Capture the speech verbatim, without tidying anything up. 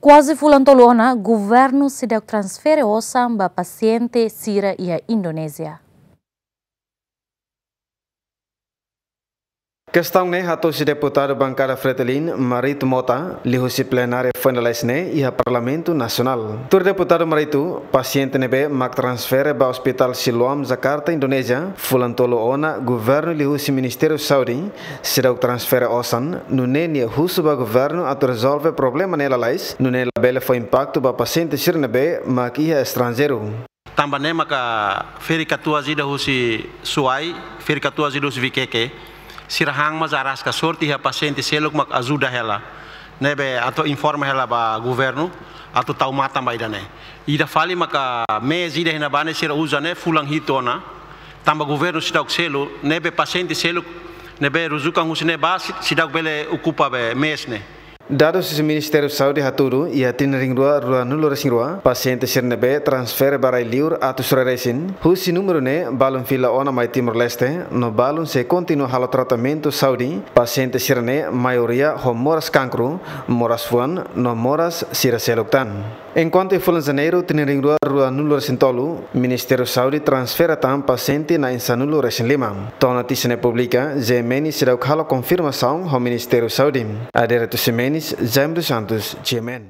Kuaze fulan tolu ona, governu seidauk transfere osan ba pasiente sira iha Indonézia. Kestaun ne'e hato'o husi deputadu bankada Fretilin, Marito Mota, liuhusi plenária foin lalais ne'e iha Parlamentu Nasionál. Tuir deputadu Marito, pasiente ne'ebé mak transfere ba Ospitál Siloam, Jakarta, Indonézia, fulan tolu ona, governu liuhusi Ministériu Saúde seidauk transfere osan, nune'e nia husu ba governu atu rezolve problema ne'e lalais, nune'e labele fó impaktu ba pasiente sira ne'ebé mak iha estranjeiru. Tanba ne'e maka ferik-katuas ida husi Suai, ferik-katuas ida husi Vikeke, sira han mós araska sorte iha pasiente seluk mak ajuda hela. Ne'ebé atu informa hela ba governu, atu tau matan ba ida-ne'e. Ida fali maka mês ida iha ne'ebá ne'e sira uza ne'e fulan hitu ona, tanba governu seidauk selu, ne'ebé pasiente seluk ne'ebé rujukan husi ne'ebá sei-, seidauk bele okupa be mês ne'e. Dadus husi Ministériu Saúde hatudu, iha tinan rihun rua ruanulu-resin-rua, pasiente sira ne'ebé transfere ba rai-liur atus rua resin, husi númeru ne'e balun fila ona mai Timor-Leste, no balun sei kontinua halo tratamentu saúde. Pasiente sira-ne'e maioria ho moras kankru, moras fuan, no moras sira seluk tan. Enkuantu iha fulan Janeiru tinan rihun rua ruanulu-resin-tolu, Ministériu Saúde transfere tan pasiente na'in sanulu-resin-lima. To'o notísia ne'e publika, GMN seidauk halo konfirmasaun ho Ministériu Saúde. Adérito Ximenes, Jaime dos Santos, GMN.